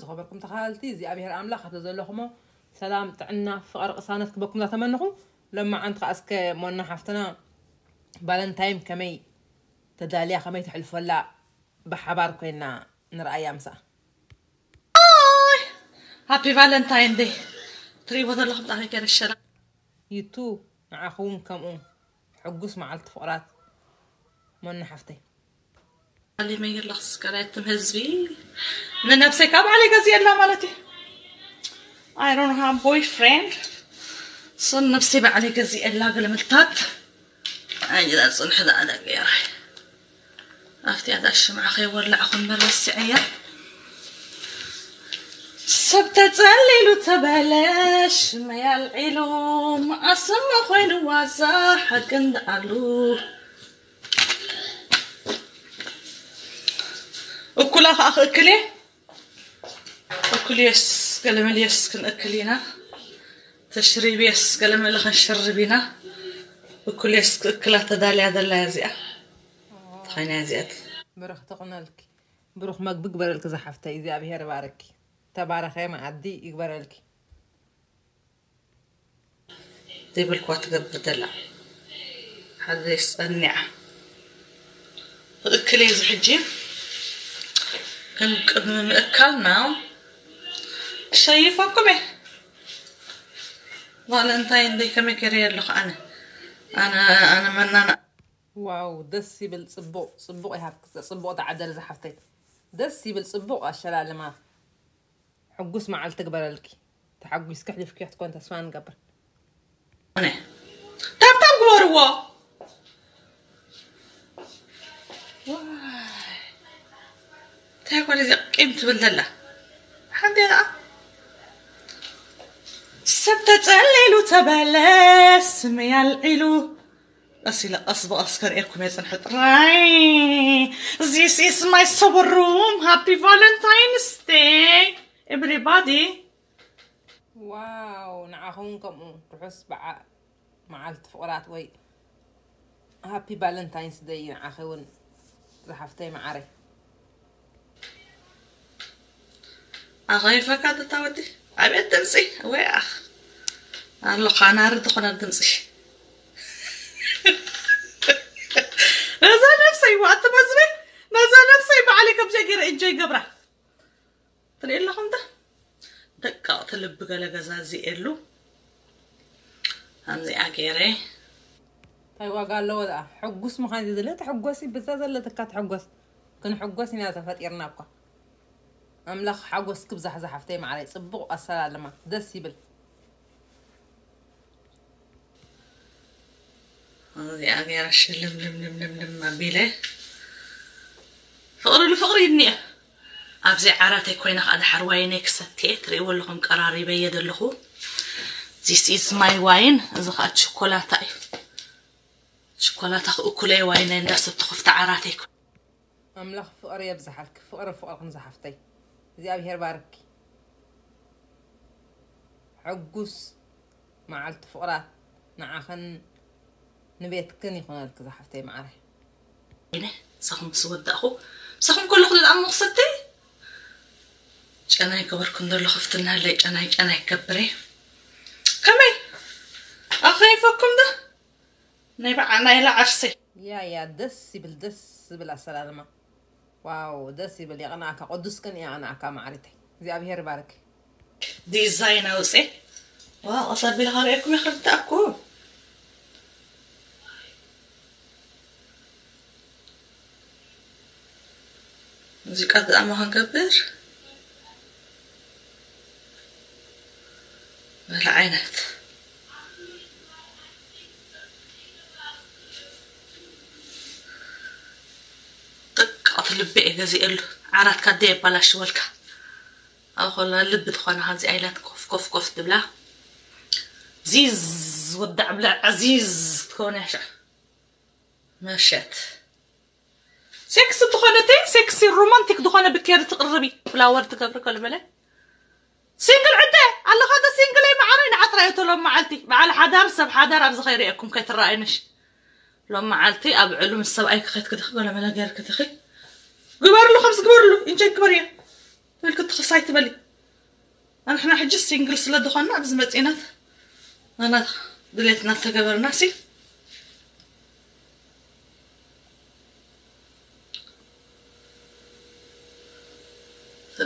ዝኸበርኩም ተኸታተልቲ እግዚኣብሔር ኣምላኽ ኣብቲ ዘለኹሞ ሰላም፣ ጥዕና፣ ፍቕሪ፣ ቅሳነት ክበኩም እናተመንኹ፣ ሎማዓንቲ ከኣ እስከ ሞና ሓፍትና ቫለንታይን ከመይ ተዳልያ፣ ከመይ ተሕልፈላ ብሓባር ኮይና ንርኣያ ምሳኣ። ሃፒ ቫለንታይን ደይ። ትሪእዎ ዘለኹም ጣዕሚ ገረሸላ። ዩቱ ንዓኹ እውን ከምኡ። ሕጉስ መዓልቲ ፍቕራት ሞና ሓፍተይ። ኣሊመ የለኽስ ከላይትም ህዝቢ ንነብሰይ ካብ ባዕለይ ገዚኤላ ማለት እዩ። I don't have boyfriend. So ንነብሰይ ባዕለይ ገዚኤላ ገለመልታት። ኣይዛ ጽንሕ ዳዕዳ ገይራ። ኣብቲ ኣዳ ሽምዓ ከይወላዕኹ እምበር ረሲዐያ። ሰብ ተጸሊሉ ተበለ ሽመይ ኣልዒሉ መኣስሞ ኮይኑ ዋዛ ሓቂ እንዳኣሉ። እኩላ ከዓ ክእክል እየ። እኩልዮስ ገለመልዮስ ክንእክል ኢና። ተሽሪብዮስ ገለመለ ክንሽርብ ኢና። እኩልዮስ ክእክላ ተዳልያ ዘላ እያ እዚኣ። ተኸይና እዚኣት። ብርኽቲ ኹነልኪ። ብሩኽ መግቢ ግበረልኪ ዝሓፍተይ፣ እግዚኣብሔር ባርኪ። ተባረኸ መኣዲ ይግበረልኪ። ዘይበልክዋ ትገብር ዘላ ሓደ ጸኒዓ። እክል እዚ ሕጂ ግን ቅድሚ ምእካልና ሸይፈኩም እየ። ቫለንታይን ደይ ከመይ ገይረ ኣለኹ ኣነ ኣነ ኣነ መናና ዋው ደስ ይብል። ጽቡቕ ጽቡቕ ይሃብኪ። ጽቡቕ ተዓደል ዝሓፍተይ። ደስ ይብል። ጽቡቕ ኣሸላልማ። ሕጉስ መዓልቲ ግበረልኪ። ተሓጒስኪ ሕሊፍኪ ክትኮን ተስፋ ንገብር። ኣነ ታብታብ ግበርዎ። እንታይ ጓል እዚ ቂም ትብል ዘላ ሓንቲ ደኣ ሰብ ተጸሊሉ ተበለ ስመይ ኣልዒሉ ቀስ ኢለ ቀስ ብቐስ ከርእየኩም እየ ጽንሐ ጥራይ። This is my sober room. Happy Valentine's Day, everybody. ዋው ንዓኹም ከምኡ ርሑስ በዓ መዓልቲ ፍቕራት ወይ ሃፒ ቫለንታይንስ ደይ ንዓኺ እውን ዝሓፍተይ መዓረይ። ኣኸይፈካ ተታወዲ ኣቤት ድምፂ ወይ ኣኽ ኣሎ ካናሪ ዝኾነ ድምፂ። ነዛ ነብሰይ ዋእቲ መዝበ ነዛ ነብሰይ ባዕለይ ከምዚኣ ገይረ እንጆይ ገብራ ትርኢ ኣለኹም ዶ? ደቀቕቲ ልቢ ገለ ገዛ እዚ የሉ ከምዚኣ ገይረ እንታይ ዋጋ ኣለዎ ደኣ? ሕጉስ ምዃን እዩ ዝድለ። ተሕጎሲ ብዛ ዘለትካ ተሕጎስ። ክንሕጎስ ኢና ተፈጢርና እኳ። ኣምላኽ ሓጎስ ክብዛሕ ዝሓፍተይ ማዕረይ። ጽቡቕ ኣሰላልማ። ደስ ይብል። እዚኣ ገይረ ሽልምልምልምልም ኣቢለ ፍቕሪ ንፍቕሪ ይድንየ። ኣብዚ ዓራተይ ኮይነ ከዓ ድሓር ዋይነይ ክሰትየ ትርእይዎ ኣለኹም ቀራሪበየ ዘለኹ። This is my wine። እዚ ከዓ ችኮላታ እዩ። ችኮላታ ክእኩለየ ዋይነይ እንዳሰተኹ ፍቲ ዓራተይ ኮ- ኣምላኽ ፍቕሪ የብዝሓልኪ። ፍቕሪ ፍቕርኽን ዝሓፍተይ። እግዚኣብሔር ባርኪ። ሕጉስ መዓልቲ ፍቕራት ንዓኽን ንቤትክን ይኹነልኪ ዝሓፍተይ መዓረይ። ኢነ ምሳኹም ምስ ወዳእኹ ምሳኹም ከለኹ ድኣ መኽሰብተይ ጨናይ ገበርኩ እንደሎ ከፍትናለይ ጨናይ ጨናይ ገብረ ከመይ ኣኸይፈኩም ዶ ናይ በዓ ናይ ለዓርሰይ ያ ያ ደስ ይብል ደስ ዝብል ኣሰላልማ። ዋው ደስ ይብል የቕንኣካ ቅዱስ ቅን የቕንኣካ ማዕሪተይ እግዚኣብሔር ይባርክ። ዲዛይን ኣውፅእ ዋ ቀስ ኣቢለ ከርእየኩም ይኽርዳእኩ ሙዚቃ ብጣዕሚ ክንገብር በለ ዓይነት ጥቃት ልቢ እየ ገዚኤሉ ዓራትካ ደ የባላሽወልካ ኣብ ኮላ ልቢ ትኾና ከምዚ ኣይላት ኮፍ ኮፍ ኮፍ ትብላ ዚዝ ወዳዕ ብላ ዕዚዝ ትኸውን ያሻ መሸት ሴክስ ዝኾነ ተ ሴክሲ ሮማንቲክ ዝኾነ ብኬር ትቅርቢ ፍላወር ትገብሪ ከልበለ ሲንግል ዕደ ኣለኻ ተ ሲንግል ይ መዓረይ ንዓጥራ እቶ ሎም መዓልቲ በዓል ሓዳር ሰብ ሓዳር ኣብዚ ከይርእየኩም ከይትረኣይንሽ ሎም መዓልቲ ኣብ ዕሉ ምስ ሰብኣይ ክኸይት ክድኺ ገለመለ ገይር ክድኺ ግበርሉ ከምዚ ግበርሉ ኢንጆይ ግበርዮ ምልክት ትኽሳይ ትበሊ። ኣንሕና ሕጂ ሲንግል ስለ ዝኾንና ኣብዚ መጺእናት ኣና ድሌትና ተገበርና ሲ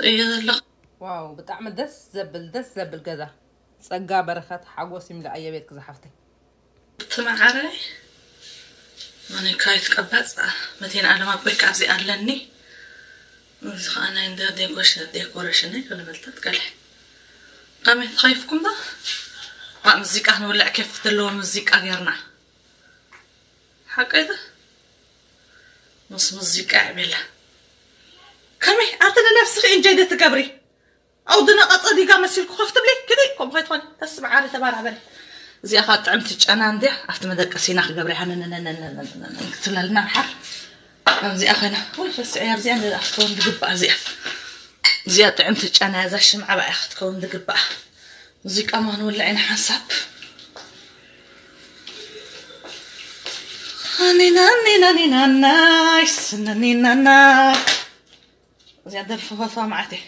እየ ዘለኹ። ዋው ብጣዕሚ ደስ ዘብል ደስ ዘብል ገዛ። ጸጋ በረኸት ሓጎስ ይምልኣ የቤትክ ዝሓፍተይ። ትመዓረይ መኒካይት ቀባጽ መቴን ኣለም ኣቦይ ካብዚ ኣለኒ። እዚ ከዓ ናይ እንደ ዴኮሽ ዴኮሬሽን እዩ። ከለመልታት ቀልሕ ከመይ ተኸይፍኩም ዶ? ዋ ሙዚቃ ንውልዕ ኬፍ ዘለዎ ሙዚቃ ጌርና ሓቀይ ዶ? ምስ ሙዚቃ ዕቤላ ከመይ ኣቲ ንነብስኺ እንጀይ ዶ ትገብሪ? ኣው ድነቐ ጸዲጋ መሲልኩ ከፍ ትብሊ ክዲ ከምኡ ከይትኾኒ ተስምዓሪ ተባራበሪ። እዚኣ ኻ ጥዕምቲ ጨና እንድያ ኣብቲ መደቀሲና ክገብረ ሃነነነነነነነነ ክትብለልና ሓር እዚኣ ኸና ወይ ፈስዐያ እዚኣ እንደ ኣፍቶን ዝግባእ እዚኣ እዚኣ ጥዕምቲ ጨና እዛ ሽምዓ ባእያ ክትከውን ዝግባእ። ሙዚቃ ማ ክንወልዕ ኢና ሓንሳብ ሃኒናኒናኒናናይ ስነኒናና እዚኣ ደርፊ ፈትዋ መዓት እየ።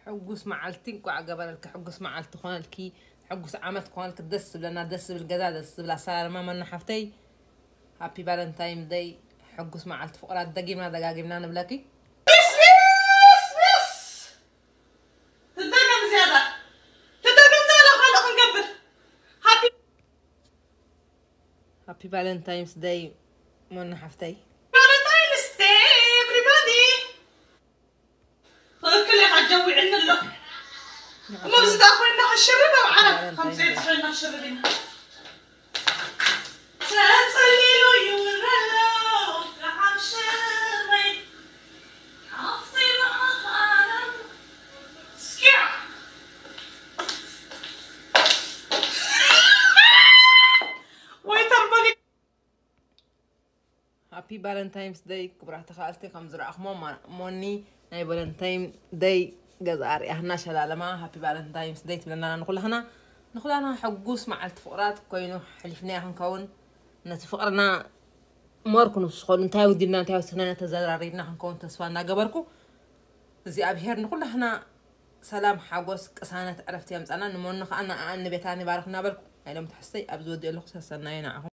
ሕጉስ መዓልቲ እንቋዕ ገበረልኪ። ሕጉስ መዓልቲ ኮነልኪ። ሕጉስ ዓመት ኮነልኪ። ደስ ዝብለና ደስ ዝብል ገዛ ደስ ዝብል ኣሰላልማ መና ሓፍተይ። ሃፒ ቫለንታይን ደይ። ሕጉስ መዓልቲ ፍቕራት ደጊምና ደጋጊምና ንብለኪ። ትደገም ዝያዳ ትደገም ዛላ ካልኦ ክንገብር ሃፒ ሃፒ ቫለንታይንስ ደይ መና ሓፍተይ። ቫለንታይንስ ደይ ኤቭሪባዲ ትኽክል ኢኻ ጀዊዕኒ ኣሎ እሞ እዚ ደኣ ኮይና ክሽርብ ኣብ ዓለም ከም ዘይት ኮይና ክሽርብ ኢና ተጸሊሉ ይውረሎ ከሓምሸረይ ሓፍተይ መዓት ዓለም ስኪያ ወይ ተርበኒ ሃፒ ቫለንታይንስ ደይ ክቡራት ተኻልቲ ከም ዝረኣኹሞ ሞኒ ናይ ቫለንታይን ደይ ገዛ ኣርያህና ሸላለማ ሃፒ ቫለንታይንስ ደይ ትብለና ንኩላህና ንኩላና ሕጉስ መዓልቲ ፍቕራት ኮይኑ ሕሊፍናዮ ክንከውን ነቲ ፍቕርና ሞር ክንውስኸሉ እንታይ ውዲልና እንታይ ወሰኽና ተዘራሪብና ክንከውን ተስፋ እናገበርኩ እግዚኣብሄር ንኩላህና ሰላም ሓጎስ ቅሳነት ዕረፍቲ የምፃና ንሞኒ ከዓ ንኣኣን ንቤታን ይባርክ እናበልኩ ናይ ሎም ትሕዝተይ ኣብዚ ወዲኦ ኣለኩ ሰሰናዩ ንዓኹም